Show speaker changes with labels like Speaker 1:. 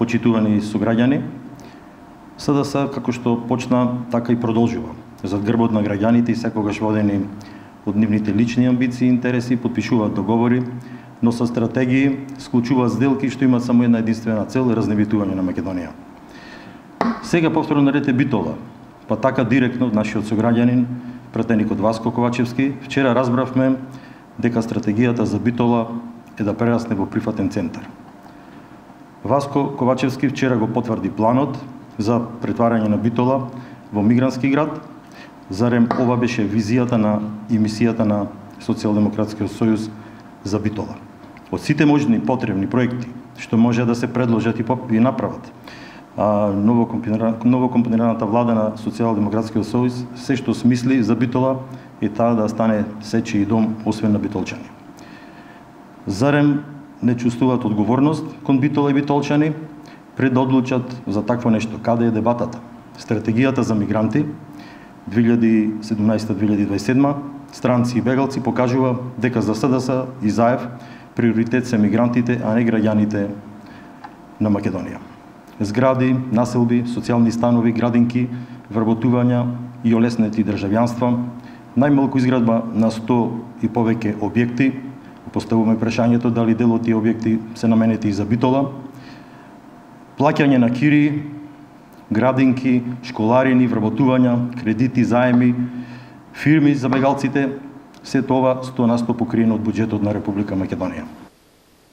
Speaker 1: почитувани сограѓани, СДС, како што почна, така и продолжува. Зад грбот на граѓаните и секогаш водени од нивните лични амбиции и интереси, подпишуваат договори, но со стратегии склучуваат сделки што имаат само една единствена цел – разневитување на Македонија. Сега повторно наред е Битола, па така директно од нашиот сограѓанин, пратеникот Васко Ковачевски, вчера разбравме дека стратегијата за Битола е да прерасне во прифатен центар. Васко Ковачевски вчера го потврди планот за претварање на Битола во мигрантски град. Зарем ова беше визијата и мисијата на Социјалдемократскиот сојуз за Битола. Од сите можни потребни проекти што може да се предложат и направат, новокомпонираната влада на Социјалдемократскиот сојуз се што смисли за Битола е таа да стане сечи и дом освен на битолчани. Зарем не чувствуваат одговорност кон Битола и битолчани пред да одлучат за такво нешто? Каде е дебатата? Стратегијата за мигранти 2017-2027, странци и бегалци покажува дека за СДС и ЗАЕВ приоритет се мигрантите, а не граѓаните на Македонија. Згради, населби, социјални станови, градинки, вработувања и олеснети државјанства, најмалку изградба на 100 и повеќе објекти. Поставуваме прашањето дали дел од тие објекти се наменети и за Битола. Плаќање на кири, градинки, школарини, вработувања, кредити, заеми, фирми за бегалците, се тоа 100% покриено од буџетот на Република Македонија.